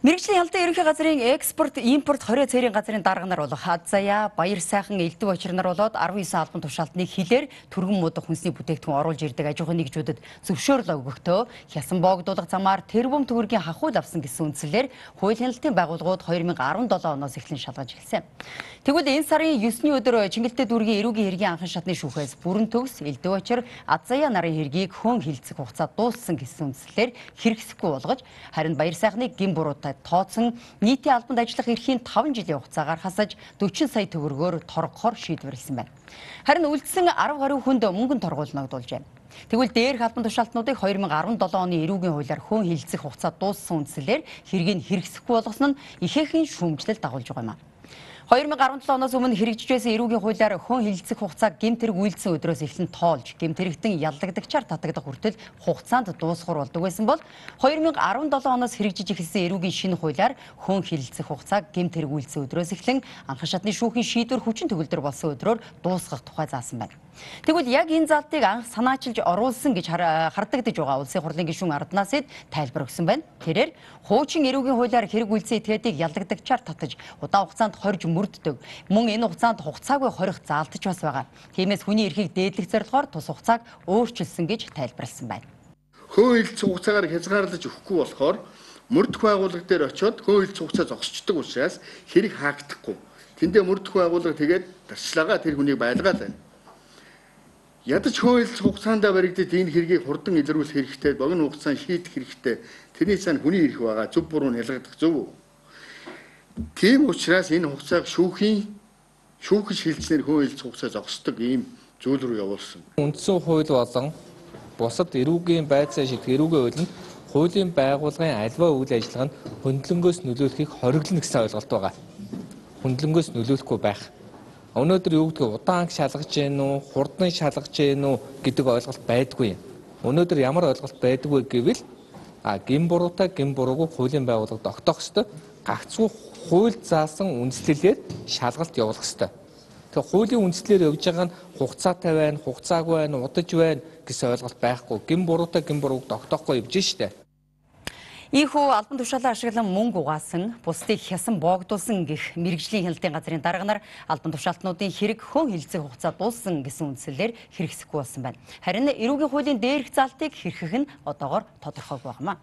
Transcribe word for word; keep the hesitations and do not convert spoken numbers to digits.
Мэргэжлийн ялдаа ерөнхий газрын экспорт, импорт хорийн цэрийн газрын дарга нар болох Азая, Баяр сайхан, Элдв очир нар болоод арван девять албан тушаалтны хилээр түргэн муудах хүнсний бүтээгдэхүүн оруулж ирдэг аж ахуйн нэгжүүдэд зөвшөөрлөө өгөхдөө хясан боогдуулах замаар тэрбум төгрөгийн хахуул авсан гэсэн үндслээр хууль хяналтын байгууллагууд две тысячи десять оноос эхлэн шалгаж эхэлсэн. Тэгвэл энэ сарын девятний өдөр Чингэлтэй дүүргийн эрүүгийн хэргийн анхан шатны шүүхээс бүрэн төгс Элдв очир, Азая нарын хэргийг хөн хилцэх хугацаа дууссан гэсэн үндслээр хэрэгсэхгүй болгож харин Баяр сайхныг гин буруутай тооцсон нийтийн албанд ажиллах эрхийн таван жилийн хугацаагаар хасаж forty сая төгрөгөөр торгохоор шийдвэрлсэн байна. Харин үлдсэн ten гаруй хүнд мөнгөнд торгуулнагдуулжээ. Тэгвэл дээрх албан тушаалтнуудыг two thousand seven оны эрүүгийн хуулиар хөн хилцэх хугацаа дууссан үндслээр хэргийг хэрэгсэхгүй болгосон нь ихээхэн шүүмжлэл дагуулж байгаа юм. two thousand seventeen оноос өмнө хэрэгжиж байсан эрүүгийн хуулиар хөн хилцэх хугацааг гэмтэрэг үйлдсэн өдрөөс эхлэн тоолж гэмтэрэгтэн яллагдагчаар татагдах хүртэл хугацаанд дуусгар болдог байсан бол two thousand seventeen оноос хэрэгжиж эхэлсэн эрүүгийн шинэ хуулиар хөн хилцэх хугацааг гэмтэрэг үйлдсэн өдрөөс эхлэн анхан шатны шүүхийн шийдвэр хүчин төгөлдөр болсон өдрөөр дуусгах тухай заасан байна. Тэгвэл яг энэ залтыг анх санаачилж оруулсан гэж хардагдаж байгаа улсын хурлын гишүүн Арднаас эд тайлбар өгсөн байна. Тэрээр хуучин эрүүгийн хуулиар хэрэг үйлдсэн этгээдийг яллагдагчаар татаж удаан хугацаанд хорж мөрддөг. Мөн энэ хугацаанд хугацаагүй хорих заалтч бас байгаа. Тиймээс хүний эрхийг дээдлэх зорилгоор тус хугацааг өөрчилсөн гэж тайлбарласан байна. Хөө хилцэх хугацаагаар хязгаарлаж өгөхгүй болохоор мөрдөх байгууллага дээр очиод хөө хилцэх хугацаа зогсчдөг учраас хэрэг хаагдахгүй. Тэндээ мөрдөх байгууллага тэгээд дарчлагаа тэр хүнийг байлгаад байна. Ядаж хөө хилцэх хугацаанд баригдаад энэ хэргийг хурдан илрүүлэх хэрэгтэй, богино хугацаанд шийдэх хэрэгтэй. Тэрний цаана хүний эрх байгаа. Зөв буруу нь ялгагдах зөв үү? Тийм учраас энэ хугацааг шүүхийн шүүхэж хилцснээр хөө хилцэх хугацаа зогсдог ийм зүйл рүү явуулсан. Үндсэн хууль болон бусад эрүүгийн байцаа шийдэх эрүүгийн хуулинд хуулийн байгууллагын альва үйл ажиллагаанд хөндлөнгөөс нөлөөлөхийг хориглоно гэсэн ойлголт байгаа. Хөндлөнгөөс нөлөөлөхгүй байх. Өнөөдөр юу гэдгийг удаан шалгаж гэнэ үү, хурдан шалгаж гэнэ үү гэдэг ойлголт байдгүй. Өнөөдөр ямар ойлголт байдгүй гэвэл а гин буруутай гин буруугүй хуулийн байгууллагад тогтоох ёстой. Гагцхүү хууль заасан үндслэлээр шалгалт явуулах ёстой. Тэгэхээр хуулийн үндслэлээр явж байгаа нь хугацаатай байна, хугацаагүй байна, удаж байна гэсэн ойлголт байхгүй. Гин буруутай гин бурууг тогтоохгүй явж штэ. Ийхүү албан тушаалаа ашиглан мөнгө угаасан, бусдыг хясан боогдуулсан гэх мэргэжлийн хяналтын газрын дарга нар албан тушаалтнуудын хэрэг хөн хилцэх хугацаа дууссан гэсэн үндслэлээр хэрэгсэхгүй болсон байна. Харин эрүүгийн хуулийн дээрх залтыг хэрхэх нь одоогоор тодорхойгүй байна.